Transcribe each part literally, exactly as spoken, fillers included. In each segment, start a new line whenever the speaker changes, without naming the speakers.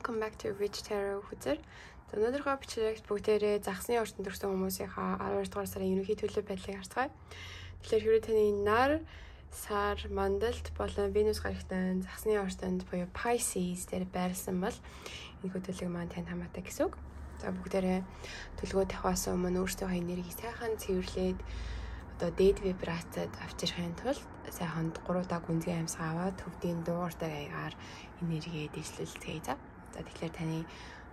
welcome back to Rich Tarot хүзэр. За өнөөдрийнхөө бичлэгт бүгдээрээ загсны орчинд төрсэн хүмүүсийнхаа аравдугаар дугаар сарын ерөнхий төлөв байдлыг харцгаая. Тэгэхээр хэрвээ таны нар сар мандалд болон Венус гарагтан загсны орчинд буюу Pisces дээр байрласан бол энэ төлөв маань танд хамаатай гэсэн үг. За бүгдээрээ төлөвөө тавхаас өмнө өөрсдийнхөө энергийг сайхан цэвэрлээд одоо дээд вибрацид авчирхын тулд сайхан гурав дахь гүнзгий амьсгаа аваад төвдийн дууртай аягаар энергээ дэвшлүүлцгээе. За. За тэгэхээр таны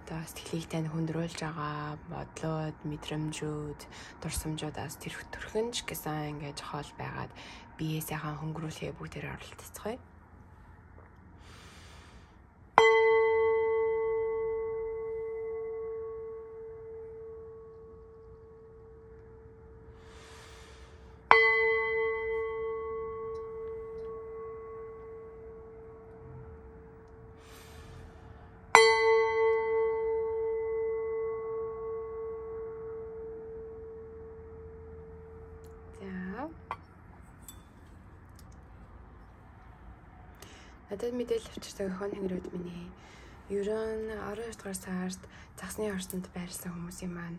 одоо сэтгэлийг тань хүндрүүлж байгаа бодлоод, мэдрэмжүүд, дурсамжуудаас тэр төрхөнч гэсэн ингэж хоол байгаад биеэ сайхан хөнгөрүүлэхээ бүгдээр оролцоцгоё. Надад мэдээлэл авчирсан хон хэнгэрүүд миний ерөн арван дугаар сард загсны орчинд байрласан хүмүүсийн маань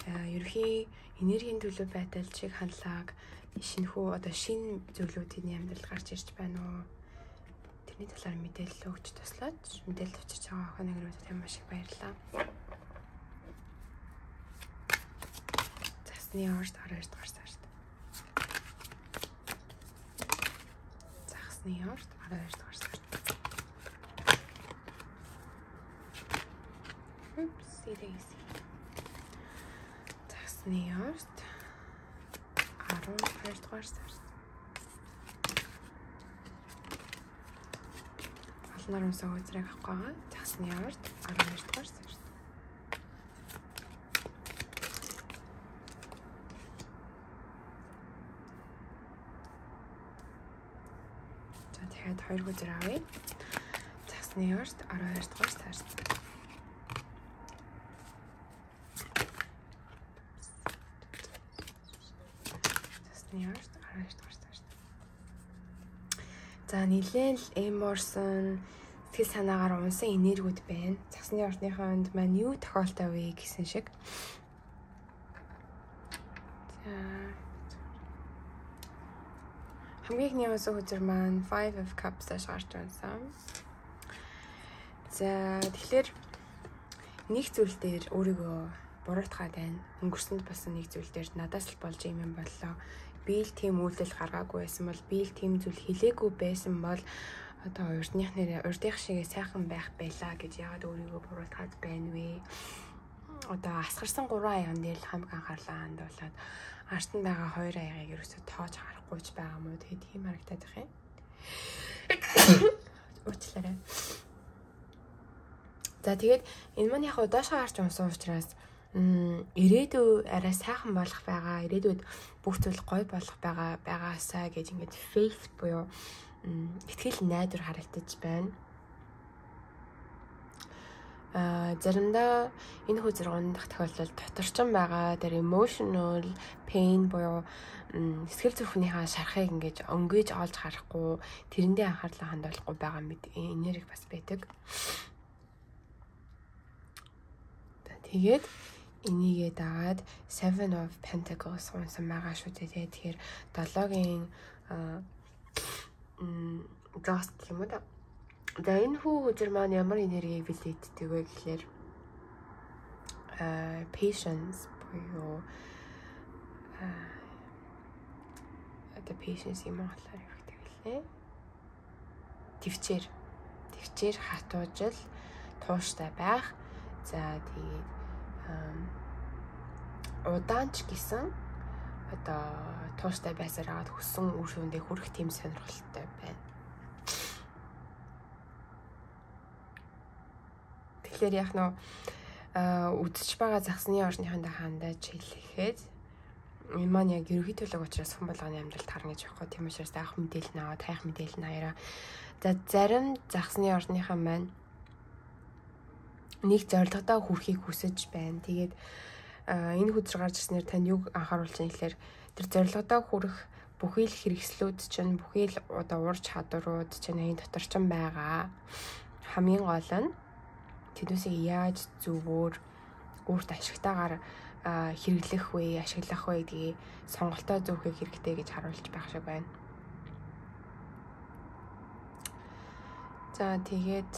ерөнхий энергийн төлөв байдал шиг хандлага шинэхүү одоо шинэ зүйлүүдийн амьдрал гарч ирж байна уу? Тэрний талаар мэдээлэл өгч туслаад мэдээлэл авчирч байгаа хон хэнгэрүүдэд маш их баярлалаа. Загсны орчинд арван дугаар сард. Загсны орчинд арван дугаар сард. Daisy. Загсны орчинд арван дугаар сард. Олноор унсаа үзрэг авах байгаа. Загсны орчинд арван дугаар сард. За тэгэхээр хоёр үзэр авъя. Загсны орчинд арван дугаар сард. Ярд арван дугаар сард. За нилээн л эморсон сэтгэл санаагаар унсан энергиуд байна. Загсны орчныхонд маань юу тохиолтой вэ гэсэн шиг. За хамгийн ихний унсан хүзэр маань Five of Cups-аас гарч унсан. За тэгэхээр нэг зүйл дээр өөрийгөө буруутгаад байна. Өнгөрсөнд болсон нэг зүйл дээр надаас л болж юм юм боллоо. Би л тийм үйлдэл гаргаагүй байсан бол би л тийм зүйл хэлээгүй байсан бол одоо урдных нэрээ урдих шигээ сайхан байх байлаа гэж яагаад өөрийгөө буруутгаад байна вэ? Одоо асгарсан гурван аян дээр л хамаг анхаарлаа хандуулаад арт нь байгаа хоёр аягийг ерөөсөө тоож харахгүйч байгаа мó тэгээд тийм харагдаад байх юм. Уучлаарай. За тэгээд энэ маань яг удаашаа гарч унсан учраас ирээдүй арай сайхан болох байгаа, ирээдүйд бүх зүйл гоё болох байгаа байгаасаа гэж ингээд faith буюу итгэл найдвар харагдаж байна. А заримдаа энэ хүзэргэн дах тохиолдолд доторчин байгаа тэр emotional pain буюу сэтгэл зүрхнийхаа шарахыг ингээд өнгөж олж харахгүй, тэрэндээ анхаарлаа хандуулахгүй байгаа мэд энерги бас байдаг. Тэгээд энийгээ дагаад Seven of Pentacles унсан байгаа шүү дээ. Тэгэхээр долоогийн м just юм уу да. За энэ хүү хүзэр маань ямар энергийг билээддэг вэ гэхээр а patience буюу а the patience юм ахлаар явагддаг лээ. Төвчээр төвчээр хатуужил тууштай байх. За тэгээд удаанч гэсэн одоо тууштай байсаар аваад хүссэн үр шүүндээ хүрэх тийм сонирхолтой байна. Тэгэхээр яг нөө үдчих байгаа загсны орчныхондоо хандаж хэлэхэд энэ маань яг ерөнхий төлөв учраас хэн болгоны амьдралд харна гэж байхгүй. Тийм учраас авах мэдээлэл нь аваад хайх мэдээлэл нь аяараа. За зарим загсны орчныхаа маань нэг зорилгодоо хүрэхийг хүсэж байна. Тэгээд энэ хүзэр гарч ирснээр танд юг анхааруулж байгаа гэхээр тэр зорилгодоо хүрэх бүхий л хэрэгслүүд чинь бүхий л одоо ур чадварууд чинь энэ дотор чинь байгаа. Хамгийн гол нь тэднүүсийг яаж зөвөр өөрт ашигтайгаар хэрэглэх вэ, ашиглах вэ гэдгийг сонголтоо зөвхөх хэрэгтэй гэж харуулж байх шиг байна. За тэгээд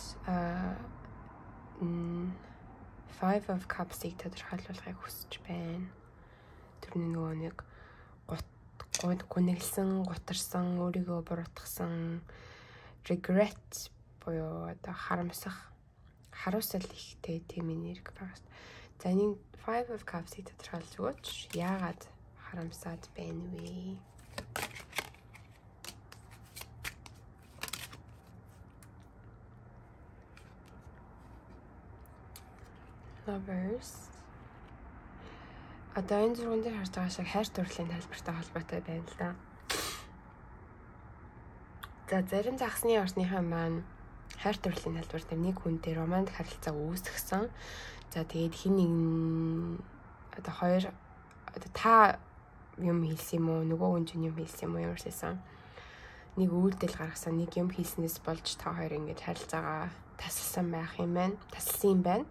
Five of Cups-ийг тодорхойлуулахыг хүсэж байна. Тэрний нөгөө нэг гуниглсан, гутарсан, өөрийгөө буруутгасан, regret буюу одоо харамсах, харуусал ихтэй тийм энерги байгаа шүү. За энэ Five of Cups-ийг тодорхойлж өгөөч. Яагаад харамсаад байна вэ? Lovers. Одоо энэ зурган дээр харж байгаа шиг хайр дурлалын тайлбартай холбоотой байна л да. За зарим загсны орсныхаа маань хайр дурлалын тайлбар дээр нэг хүнтэй романтик харилцаа үүсгэсэн. За тэгээд хин нэг одоо хоёр одоо та юм хэлсэн юм уу, нөгөө хүн чинь юм хэлсэн юм уу ямарчсан. Нэг үйлдэл гаргасан, нэг юм хийснээс болж та хоёр ингэж харилцаагаа тасалсан байх юм байна. Тасалсан юм байна.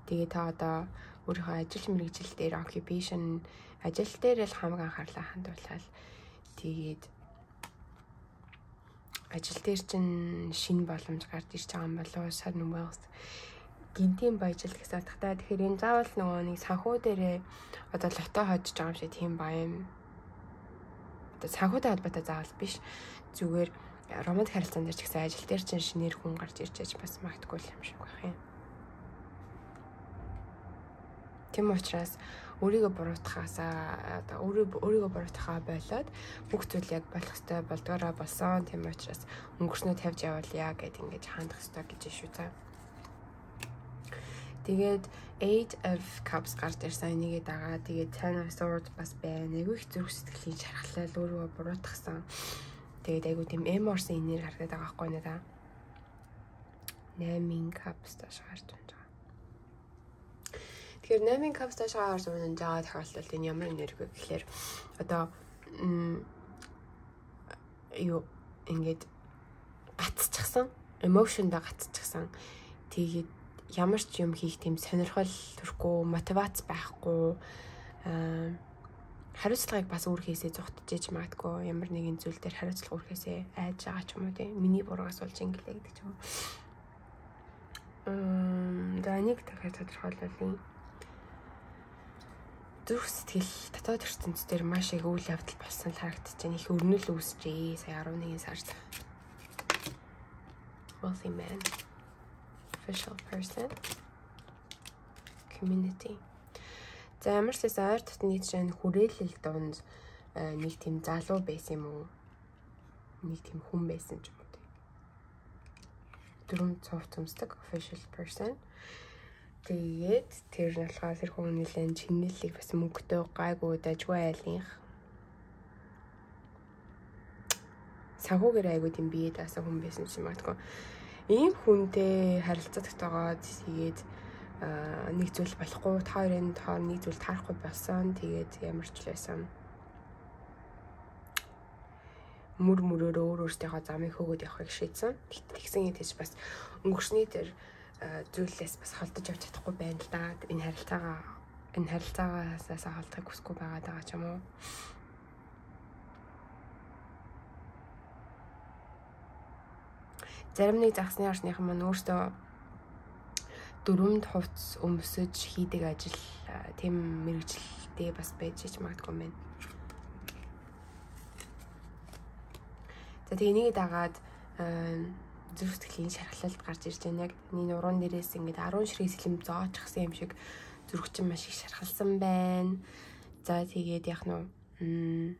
Тэгээд та одоо өөрийнхөө ажил мэргэжил дээр occupation ажил дээр л хамаг анхаарлаа хандуулаад тэгээд ажил дээр чинь шинэ боломж гарч ирж байгаа юм болоо sudden wealth гинтийн баяжил гэсэн утгатай. Тэгэхээр энэ заавал нөгөө нэг санхүү дээрээ одоо лото хожиж байгаа юм шиг тийм баян одоо санхүүтэй холбоотой заавал биш, зүгээр романтик харилцаан дээр ч гэсэн ажил дээр чинь шинээр хүн гарч ирж байж бас магтгүй юм шиг байх юм. Тийм учраас өөрийгөө буруутахаасаа одоо өөрийгөө буруутахаа болоод бүх зүйл яг болох ёстой болдгоороо болсон. Тийм учраас өнгөрснөө тавьж явуулъя гэд ингэж хандах ёстой гэж шүү за. Тэгээд Eight of Cups гарч ирсэн нэгээ дагаа. Тэгээд Ten of Swords бас байна. Айгүй их зүрх сэтгэлийн шархлал өөрийгөө буруутгасан. Тэгээд айгүй тийм эморсын энерги харагдаад байгаа байхгүй нэ та. Nine Cups тааш гарч байна. Тэгэхээр Nine Cups тааш гарч байна жаа тохиолдолд энэ ямар энерги вэ гэхээр одоо юу ингээд гацчихсан, emotion-да гацчихсан. Тэгээд ямар ч юм хийх тийм сонирхол төрөхгүй, мотивац байхгүй, хариуцлагыг бас өөрхөөсөө зогтжиж магадгүй, ямар нэгэн зүйл дээр хариуцлага өөрхөөсөө айж байгаа ч юм уу тийм. Миний бургаас болж ингэлээ гэдэг ч юм уу. Мм, за нэг дахиад тодорхойлуулъя. Зүрх сэтгэл дотоод ертөнцийн дээр маш их үйл явдал болсон л харагдаж байна. Их өрнөл үүсчээ сая eleven сард. Wealthy man. Official person. Community. За ямар ч байсан ойр дотны чинь хүрээлэл донд нэг тийм залуу байсан юм уу? Нэг тийм хүн байсан ч юм уу. Дөрөв цов цомсдог official person. Тэгээд тэр нь болохоор тэр хүн нэлээд чинэлийг бас мөнгөтэй гайгүй дажгүй айлынх. Санхүүгээр айгүй тийм бие даасан хүн байсан юм магадгүй. Ийм хүнтэй харилцаа тогтоогоод тэгээд нэг зүйл болохгүй, та хоёрын тоор нэг зүйл таарахгүй болсон. Тэгээд ямар ч л байсан. Мөр мөрөөрөө өөр өөртөө замыг хөөгд явахыг шийдсэн. Тэгсэн юм тийч бас өнгөрсний тэр зүйлээс бас холдож явж чадахгүй байна л да. Энэ харилцаагаа энэ харилцаагаас холдохыг хүсэхгүй байгаа даа ч юм уу. Зарим нэг загсны орсныхан маань өөртөө дөрөнд хувцс өмсөж хийдэг ажил тийм мэрэгчлээ бас байж ч магадгүй юм байна. За тэгээ энийг дагаад зүрх сэтгэлийн шархлалд гарч ирж байна. Яг энэ уран дээрээс ингээд ten ширхэг сэлэм зоочхсан юм шиг зүрх чинь маш их шархалсан байна. За тэгээд яг нь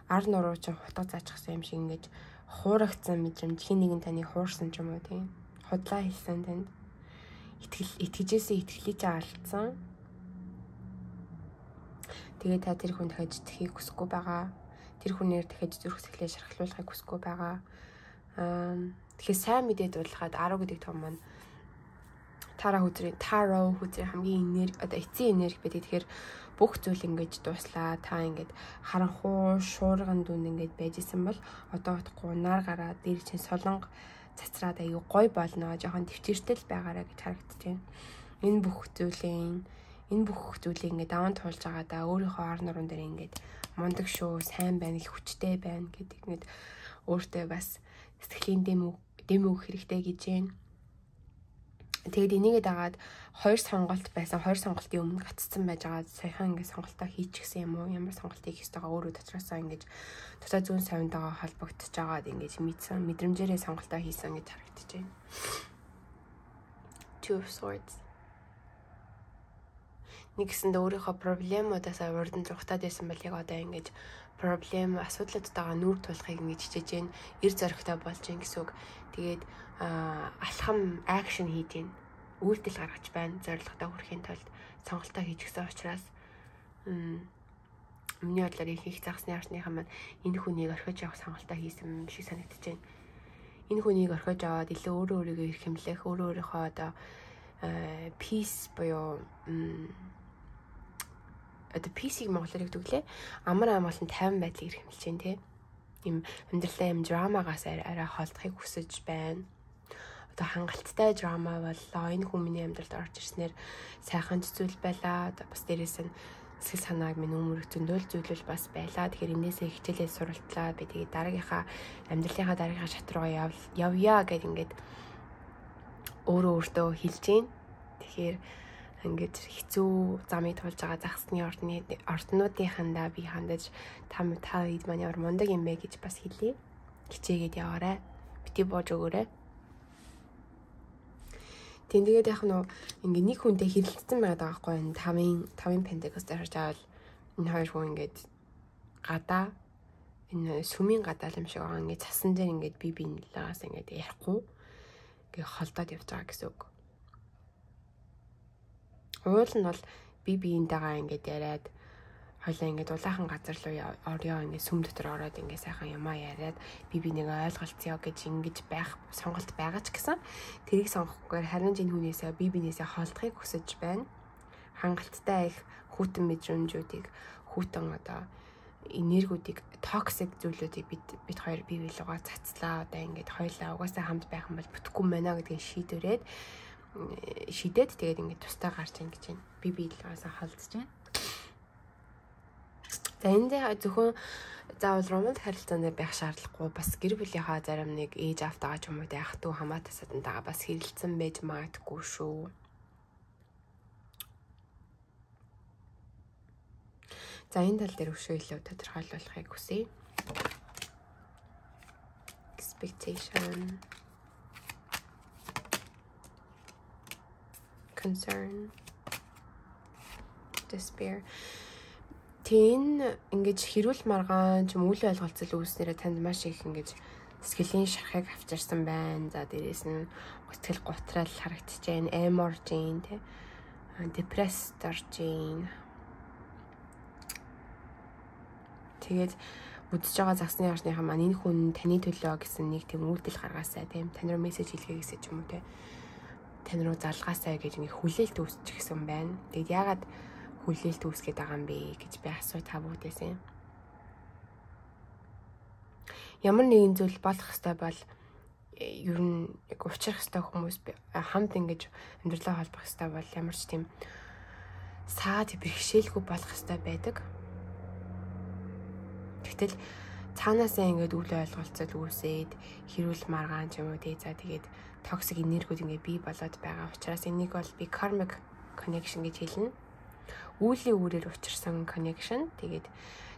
ар нуруу чинь хутга заачихсан юм шиг ингээд хуурагдсан мэдрэмж, хин нэгэн таныг хуурсан ч юм уу тийм. Худлаа хэлсэн танд. Итгэл итгэжээсээ итгэлийг алдсан. Тэгээд та тэр хүн дахиж итгэхийг хүсэхгүй байгаа. Тэр хүнээр дахиж зүрх сэтгэлээ шархлуулахыг хүсэхгүй байгаа. Аа тэгэхээр сайн мэдээд дуулахад ten гэдэг том маань Тара хүзрийн Таро хүзрийн хамгийн энерги одоо эцсийн энерги байдаг. Тэгэхээр бүх зүйл ингэж дуслаа. Та ингэж харанхуу шуурган дүнд ингэж байжсэн бол одоо утгагүй нар гараад дээр чинь солонго цацраад аюу гой болно, жоохон төвчээртэл байгаараа гэж харагдаж байна. Энэ бүх зүйлийн энэ бүх зүйлийг ингээд даван туулж байгаадаа өөрийнхөө ар нуруунд дээр ингээд мундаг шүү, сайн байна, их хүчтэй байна гэдэг ингээд өөртөө бас сэтгэлийн дэм дэм өгөх хэрэгтэй гэж байна. Тэгээд энийгээ дагаад хоёр сонголт байсан. Хоёр сонголтын өмнө гаццсан байж байгаа. Саяхан ингээд сонголтоо хийчихсэн юм уу? Ямар сонголт хийх ёстойгоо өөрөө дотроосоо ингээд дотоод зүүн совиндоо холбогдож байгаад ингээд мэдсэн мэдрэмжээрээ сонголтоо хийсэн гэж харагдаж байна. Two of Swords. Нэгсэнд өөрийнхөө проблемуудаас урдан зүгтаад байсан бол яг одоо ингээд проблем асуудлуудтайгаа нүүр тулахыг ингэж хичээж гэн эр зоригтой болж гин гэсэн үг. Тэгээд алхам акшн хийдیں۔ Үйлдэл гаргаж байна. Зорилготой хүрэхийн тулд сонголтоо хийж гисэн учраас миний бодлоор их загсны арчныхан маань энэ хүнийг орхиж явах сонголтоо хийсэн шиг санагдаж байна. Энэ хүнийг орхиж аваад илүү өөрөө өөрийгөө их хэмлэх, өөрөө өөрийнхөө одоо peace буюу одоо peace-ийг монголоор өгдөглээ. Амар амгалан тайван байдлыг их хэмлэж байна тий. Им амьдралаа юм драмагаас арай холдохыг хүсэж байна. Одоо хангалттай драма боллоо. Энэ хүмүүний амьдралд орж ирснээр сайхан зүйл байлаа. Одоо бас дээрээс нь сэтгэл санааг минь өмөрөх зөндөөл зүйлүүл бас байлаа. Тэгэхээр энээсээ хичээлээ суралтлаа. Би тэгээ дараагийнхаа амьдралынхаа дараагийнхаа шат руугаа явъя гэд ингээд өөрөө өөртөө хэлж гин. Тэгэхээр ингээд хэцүү замыг туулж байгаа загсны ордны орднуудынхандаа би хандаж та та ид маань ямар мундаг юм бэ гэж бас хэлье. Хичээгээд яваарай. Бити боож өгөөрэй. Тэгээд яг нь ингээ нэг хүнтэй хэрэлдсэн байгаа байхгүй энэ тавын тавын пентакост харж авал энэ хоёр хүн ингээд гадаа энэ сүмийн гадаа юм шиг байгаа ингээ цасан дээр ингээд би биенээс ингээд ярихгүй ингээ холдоод явж байгаа гэсэн үг. Уул нь бол би биентэйгээ ингээд яриад хоёлаа ингээд улаахан газар руу орё ингээд сүм дотор ороод ингээд сайхан юмаа яриад би бинийг ойлголцъё гэж ингэж байх сонголт байгаа ч гэсэн тэрийг сонгохгүйгээр харин энэ хүнээсээ би бинээсээ холдохыг хүсэж байна. Хангалттай их хүүтэн мэдрэмжүүдийг хүүтэн одоо энергиудыг токсик зүйлүүдийг бид бид хоёр бие биелүүгээ цацлаа одоо ингээд хоёлаа угаасаа хамт байх юм бол бүтэхгүй мэнэ гэдгийг шийдвэрээд шидэд тэгээд ингээд тустай гарч ийн гэж байна. Би биелүүгээс холдож байна. За энэ зөвхөн заавал романтик харилцаанд байх шаардлагагүй бас гэр бүлийнхаа зарим нэг ээж автагаа ч юм уу тэ ах дүү хамаатай садантайгаа бас хэрэлцэн байж магадгүй шүү. За энэ тал дээр өшөө илүү тодорхойлуулахыг хүсье. Expectation, concern, despair. Тэн ингэж хэрүүл маргаан ч юм үйл ойлголцол үүснээрээ танд маш их ингэж сэтгэлийн шархыг авчирсан байна. За дээрээс нь сэтгэл готрал харагдаж байна, эм орж байна, тэ депресд орж байна. Тэгээд үдсэж байгаа загсны арчныхан маань энэ хүн таны төлөө гэсэн нэг тийм үйлдэл гаргаасаа, тийм тань руу мессеж хэлгээ гэсэн ч юм уу, тэ тань руу залгаасаа гэж нэг хүлээлт үүсчихсэн байна. Тэгээд яагаад хүлээлт үүсгээд байгаа юм бэ гэж би асуу та бүгдээсээ. Ямар нэгэн зүйл болох хэвээр бол ер нь яг учрах хэвээр хүмүүс хамт ингэж амьдралаа холбох хэвээр бол ямар ч тийм саад бэрхшээлгүй болох хэвээр байдаг. Тэгтэл цаанаасаа ингэж үйл ойлголцол үүсээд хэрүүл маргаан ч юм уу тий за тэгээд токсик энергиуд ингэ бий болоод байгаа учраас энийг бол би karmic connection гэж хэлнэ. Үүлийн үрээр учирсан connection. Тэгээд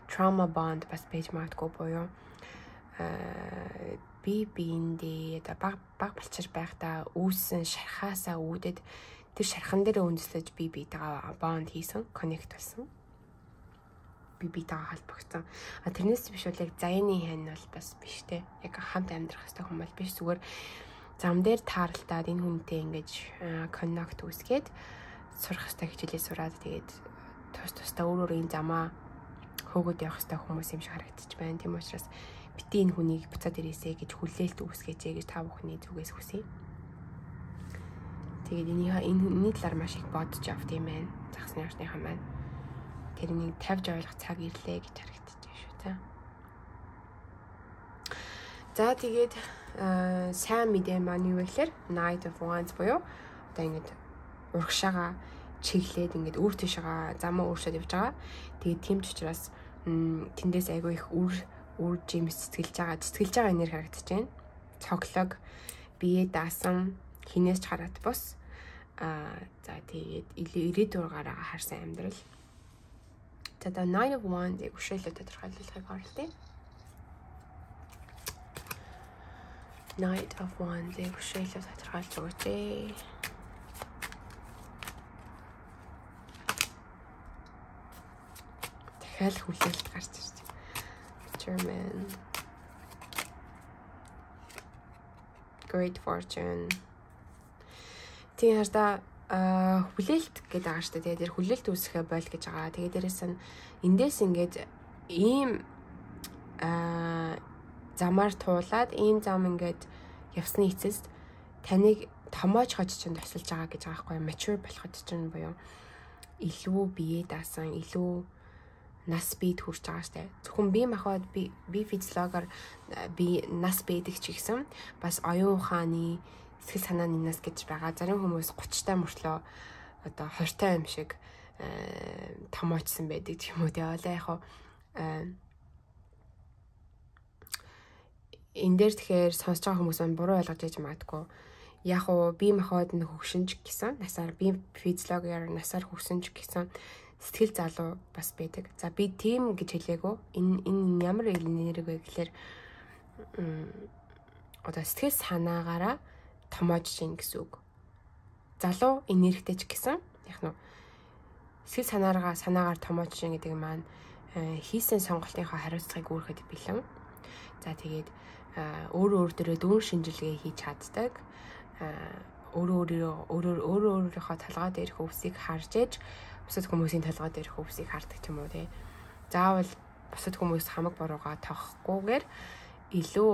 trauma bond бас байж магадгүй буюу аа би биэндээ одоо баг баг болчир байхдаа үүссэн шархаасаа үүдээд тэр шархан дээр үндэслэж би биетэйгээ bond хийсэн, connect болсон. Би биетэйгээ холбогдсон. А тэрнээс биш бол яг заяаны хань бол бас биш те. Яг хамт амьдрах хэвээр хүн бол биш. Зүгээр зам дээр тааралтаад энэ хүнтэй ингэж connect үүсгээд сурах хэвээр хичээлээ сураад тэгээд тус тусдаа өөр өөр энэ замаа хөөгд явах хэвээр хүмүүс юм шиг харагдчих байна. Тийм учраас бити энэ хүнийг буцаад ирээсэй гэж хүлээлт үүсгэжээ гэж та бүхний зүгээс хүсье. Тэгээд энийхээ энэ хүний талаар маш их бодож авт юм байна. Загсны арчныхан маань тэрнийг тавьж ойлгох цаг ирлээ гэж харагдчих шүү та. За тэгээд сайн мэдээ маань юу вэ гэхээр Knight of Wands буюу одоо ингэж урагшаага чиглээд ингэж өөр тийшээ замаа өөрчилж явж байгаа. Тэгээд тийм ч учраас тэндээс айгүй их үр үр жимс цэцгэлж байгаа. Цэцгэлж байгаа энерги харагдаж байна. Цоглог, бие даасан, хинээс ч хараад бус. Аа за тэгээд ирээдүгээрээ харсан амьдрал. За the Nine of Wands-ийг өшөөлөд тодорхойлохыг оролтъё. Knight of Wands-ийг өшөөлөд тодорхойлж өгөөч. Дахиад хүлээлт гарч ирж байна. German. Great Fortune. Тийм хараа хүлээлт гэдэг байгаа шүү дээ. Тэгээд хүлээлт үүсэхэ бойл гэж байгаа. Тэгээд дээрээс нь эндээс ингээд ийм аа замаар туулаад ийм зам ингээд явсны эцэст таныг томоож хож чинь тусалж байгаа гэж байгаа байхгүй mature болоход чинь буюу илүү бие даасан, илүү нас бийд хүрч байгаа штэ. Зөвхөн бие махбод би би физиологоор би нас бийдэг ч гэсэн бас оюун ухааны сэтгэл санааны нас гэж байгаа. Зарим хүмүүс гуцтай мөртлөө одоо хортой юм шиг томоочсон байдаг ч юм уу тий. Олоо яг энэ дээр тэгэхээр сонсож байгаа хүмүүс маань буруу ойлгож яж магадгүй. Яг уу бие махбод нь хөгшинж гэсэн насаар би физиологоор насаар хөгсөн ч гэсэн сэтгэл залуу бас байдаг. За би тийм гэж хэлээгөө. Энэ энэ ямар энерги вэ гэхээр одоо сэтгэл санаагаараа томоож чинь гэсэн үг. Залуу энергитэй ч гэсэн яг нь сэтгэл санаараа санаагаар томоож чинь гэдэг маань хийсэн сонголтынхаа хариуцлагыг үүрэхэд бэлэн. За тэгээд өөрөө өөр дөрөө дүүн шинжилгээ хийж чаддаг. Өөрөө өөрөөр өөрөө өөрийнхөө талгаа дээрх өвсийг харж ээж бусад хүмүүсийн талгаа дээрх өвсийг хардаг ч юм уу тий. Заавал бусад хүмүүс хамаг боруугаа тохохгүйгээр илүү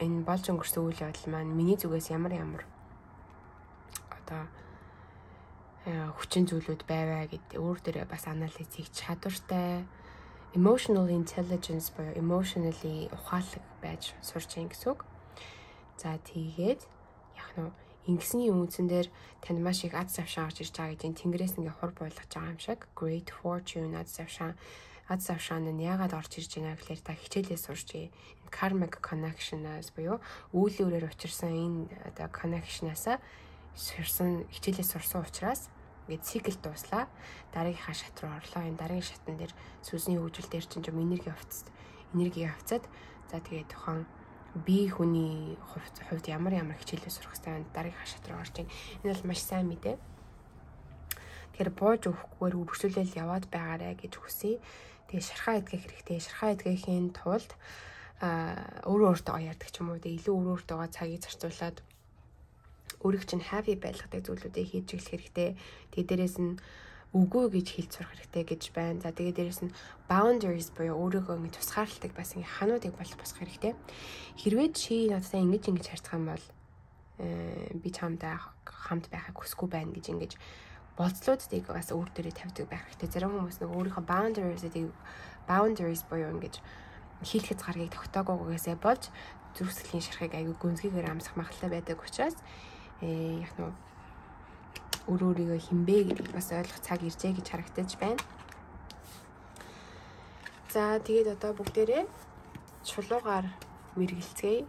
энэ болж өнгөрсөн үйл явдал маань миний зүгээс ямар ямар одоо хүчин зүйлүүд байваа гэдэг өөр дөрөө бас анализ хийж чадвартай emotional intelligence буюу emotionally ухаалаг байж сурч ийн гэсэн үг. За тэгээд яг нь ингэсний үндсэн дээр танд маш их аз завшаа орж ирж байгаа гэж тэнгэрээс ингээ хур байлгаж байгаа юм шиг. Great Fortune аз завшаа аз завшаан нь яагаад орж ирж байна гэхээр та хичээлээ сурч энэ karmic connection-аас буюу үйл үүрээр учирсан энэ одоо connection-аас сурсан хичээлээ сурсан учраас ингээд цикл дууслаа. Дараагийнхаа шат руу орлоо. Энэ дараагийн шатн дээр сүнсний хөгжил дээр чинь юм энерги авцад энерги авцад за тэгээд тухайн бие хүний хувьд ямар ямар хичээлээ сурах хэрэгтэй дараагийн шат руу орж ийн. Энэ бол маш сайн мэдээ. Тэгэхээр бууж өгөхгүйгээр үргэлжлүүлэл яваад байгаарэ гэж хүсье. Тэгээ шархаа идэх хэрэгтэй. Шархаа идэхийн тулд аа өөрөө өөртөө ярьдаг ч юм уу. Тэгээ илүү өөрөө өөртөө цагийг зарцуулаад өөрийг чинь happy байлгадаг зүйлүүдийг хийж эхлэх хэрэгтэй. Тэгээ дээрээс нь үгүй гэж хэлж сурах хэрэгтэй гэж байна. За тэгээ дээрээс нь boundaries буюу өөрийгөө ингэ тусгаарлалтыг бас ингэ хануудыг болох босгох хэрэгтэй. Хэрвээ чи надтай ингэж ингэж харьцах юм бол би чамтай хамт байхыг хүсэхгүй байна гэж ингэж болцлуудыг бас өөр дээрээ тавьдаг байх хэрэгтэй. Зарим хүмүүс нэг өөрийнхөө boundaries-ийг boundaries буюу ингэж хийх хязгаарыг тогтоогоогоосээ болж зүрхсэтгэлийн шархыг аягүй гүнзгийгээр амсах магадлал байдаг учраас э яг нь өөр өөрийгөө хинбэ гэдгийг бас ойлгох цаг иржээ гэж харагдаж байна. За тэгээд одоо бүгдээрээ чулуугаар мэргэлцгээе.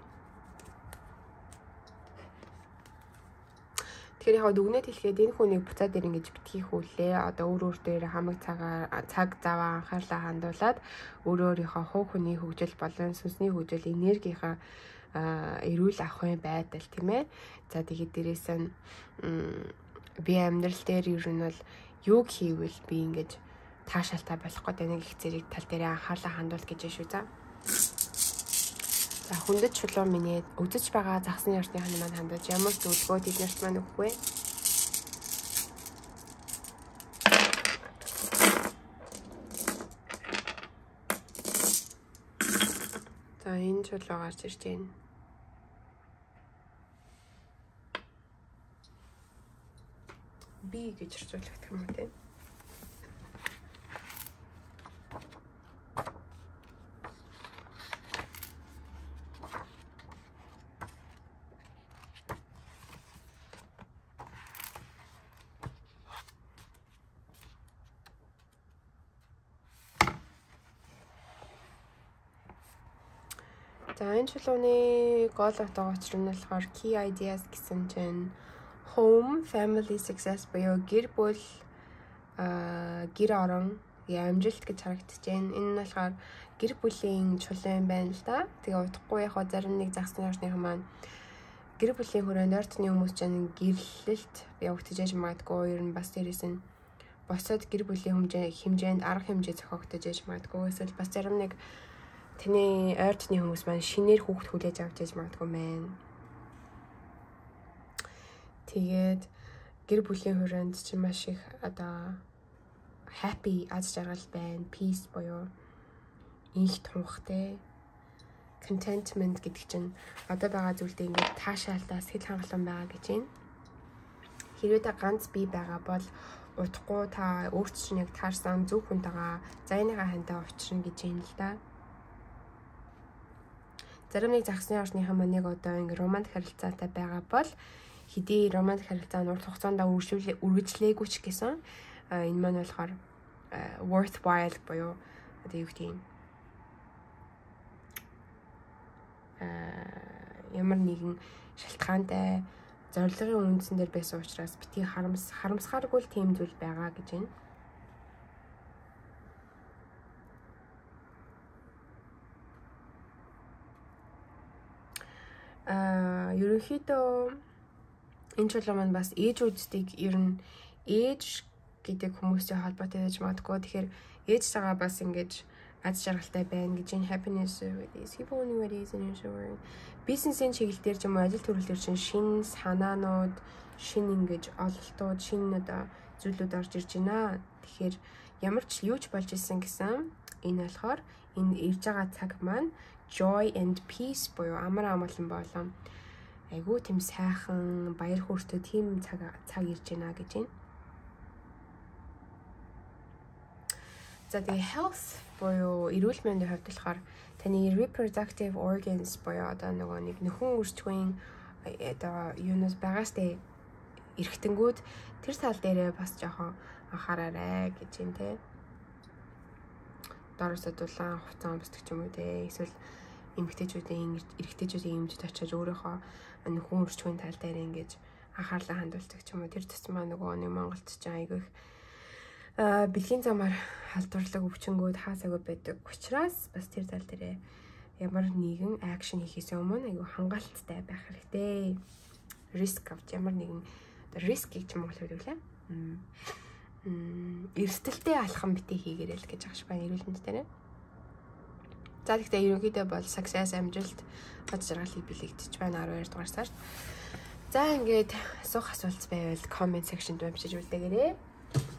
Тэгэхээр яг дүгнээд хэлэхэд энэ хүнийг буцаад ир ингэж битгий хүүлээ. Одоо өөр өөр дээр хамаг цагаар цаг заваа анхаарлаа хандуулад өөр өөрийнхөө хувь хүний хөгжил болон сүнсний хөгжил энергийнхаа эрүүл авахын байдал тийм ээ. За тэгээд дээрээс нь би амьдрал дээр ер нь бол юу хийвэл би ингэж таашаалтай болох гэдэг нэг их зэрэг тал дээр анхаарлаа хандуул гэж шүү за. За хүндэт чулуу миний үзэж байгаа загсны орчны хань маань хандаж ямар зөвлөгөө тэднэрт маань өгөх вэ? За энэ чулуу гарч ирж байна. Би гэж орчуулах юм уу те? За энэ чулууны гол утга учир нь болохоор key ideas гэсэн чинь home, family success буюу гэр бүл, аа гэр орон, амжилт гэж харагдаж байна. Энэ нь болохоор гэр бүлийн чулуун байна л да. Тэгээ утгагүй яг зарим нэг загсны орчныхан маань гэр бүлийн хүрээнд ойртны хүмүүс ч гэрлэлт явагдаж яж магадгүй. Ер нь бас дээрээс нь босоод гэр бүлийн хэмжээ хэмжээнд арга хэмжээ зохиогдож яж магадгүй. Эсвэл бас зарим нэг таны ойртны хүмүүс маань шинээр хүүхд хүлээж авч яж магадгүй мэн. Тэгээд гэр бүлийн хүрээнд чи маш их одоо happy аз жаргал байна. Peace буюу инх тунхтай. Contentment гэдэг чинь одоо байгаа зүйлдээ ингээд таашаалтаа сэтгэл хангалуун байгаа гэж байна. Хэрвээ та ганц бие байгаа бол утгагүй та өөрт чинь яг таарсан зөв хүнтэйгээ зайныхаа хантай уучрна гэж байна л да. Зарим нэг загсны орчныхан маань яг одоо ингээд романтик харилцаатай байгаа бол хэдий романтик харилцаа нь урт хугацаанд үргэлжлээгүй ч гэсэн энэ маань болохоор worthwhile буюу одоо юу гэдэг юм ямар нэгэн шалтгаантай зорилгын үндсэн дээр байсан учраас бити харамс харамсахааргүй л тийм зүйл байгаа гэж байна. Аа ерөнхийдөө энэ чулуу маань бас ээжүүдийг ер нь ээж гэдэг хүмүүстэй холбоотой байж магадгүй. Тэгэхээр ээжтэйгээ бас ингэж аз жаргалтай байна гэж энэ happiness is people only what is in your world. Бизнесийн чиглэл дээр ч юм уу ажил төрөлдөр чинь шинэ санаанууд, шинэ ингэж ололтууд, шинэ одоо зүйлүүд орж ирж байна. Тэгэхээр ямар ч юу ч болж исэн гэсэн энэ болохоор энэ ирж байгаа цаг маань joy and peace буюу амар амгалан болон айгуу тийм сайхан баяр хөөртэй тийм цаг цаг ирж байна гэж байна. За тэгээ health буюу эрүүл мэндийн хувьд болохоор таны reproductive organs буюу одоо нөгөө нэг нөхөн үржихүйн одоо юунаас багаастай эргэтэнгүүд тэр тал дээрээ бас жоохон анхаараарай гэж юм те. Дороос дулаан хувцас өмсдөг ч юм уу те. Эсвэл эмэгтэйчүүдийн эрэгтэйчүүдийн эмчд очиж өөрийнхөө нөхөн үржихүйн тал дээр ингэж анхаарлаа хандуулдаг ч юм уу. Тэр тусмаа нөгөө нэг Монголд ч айгүй а бэлгийн замаар халдварлаг өвчнгүүд хаасаагүй байдаг учраас бас тэр тал дээр ямар нэгэн акшн хийхээс өмнө айгүй хангалттай байх хэрэгтэй. Риск авч ямар нэгэн риск гэж Монгол хэлдэг лээ. Мм эрсдэлтэй алхам битээ хийгээрэй л гэж агш байна эрүүл мэнд дээр. За тэгтээ ерөнхийдөө бол success амжилт аз жаргалыг бэлэгдэж байна арван хоёр дугаар сард. За ингээд асуух асуулт байвал comment section-д бичиж үлдээгээрэй.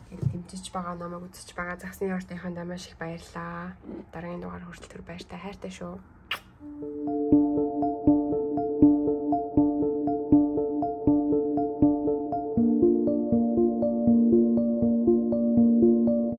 Дэмжиж байгаа намайг үзэж байгаа загсны ордынхаа маш их баярлалаа. Дараагийн дугаар хүртэл түр баяртай хайртай шүү.